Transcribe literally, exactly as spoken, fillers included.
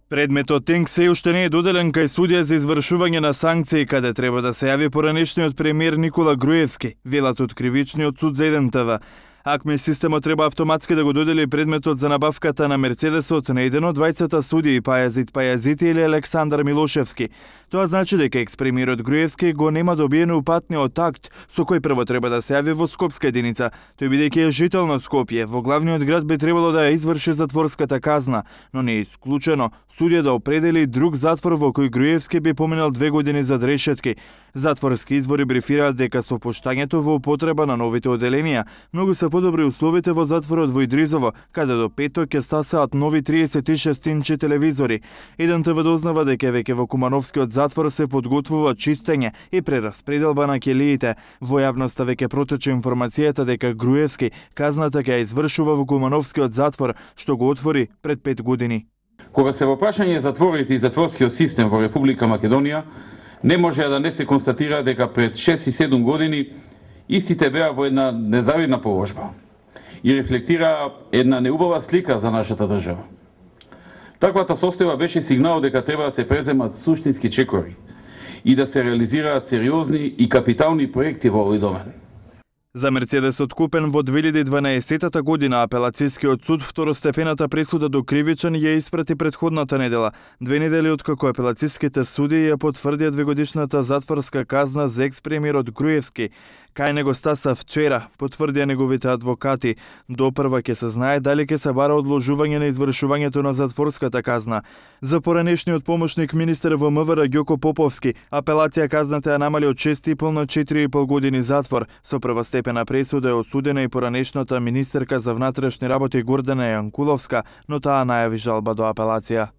Предметот Тенк се уште не е доделен кај судија за извршување на санкции, каде треба да се јави поранешниот премиер Никола Груевски, велат од кривичниот суд за еден те ве. АКМИ системот треба автоматски да го додели предметот за набавката на Мерцедесот на еден од двајцата судии Пајазит Пајазити или Александар Милошевски. Тоа значи дека екс-премиерот Груевски го нема добиено упатниот акт со кој прво треба да се јави во Скопска единица. Тој бидејќи е жител на Скопје, во главниот град би требало да ја изврши затворската казна, но не е исклучено судија да определи друг затвор во кој Груевски би поминал две години зад решетки. Затворски извори брифираат дека со опуштањето во употреба на новите оделенија многу се подобри условите во затворот во Идризово, каде до петок ќе стасаат нови триесет и шест инчи телевизори. еден те ве дознава дека веќе во Кумановскиот затвор се подготвува чистење и прераспределба на келиите. Во јавноста веќе протече информацијата дека Груевски казната ќе ја извршува во Кумановскиот затвор, што го отвори пред пет години. Кога се во прашање затворите и затворскиот систем во Република Македонија, не може да не се констатира дека пред шест и седум години истите беа во една незавидна положба и рефлектира една неубава слика за нашата држава. Таквата состојба беше сигнал дека треба да се преземат суштински чекори и да се реализираат сериозни и капитални проекти во овој домен. За Мерцедесот купен во две илјади и дванаесетта година апелацискиот суд второстепената пресуда до кривичен ја испрати претходната недела, две недели откако апелациските суди ја потврдија двегодишната затворска казна за екс-премиерот Груевски. Кај него стаса вчера, потврдија неговите адвокати. Допрва ќе се знае дали ќе се бара одложување на извршувањето на затворската казна. За поранешниот помошник министер во МВР Ѓоко Поповски, апелација казната ја намали од шест и пол на четири и пол години затвор. Со првостепена пресуда е осудена и поранешната министерка за внатрешни работи Гордана Јанкуловска, но таа најави жалба до апелација.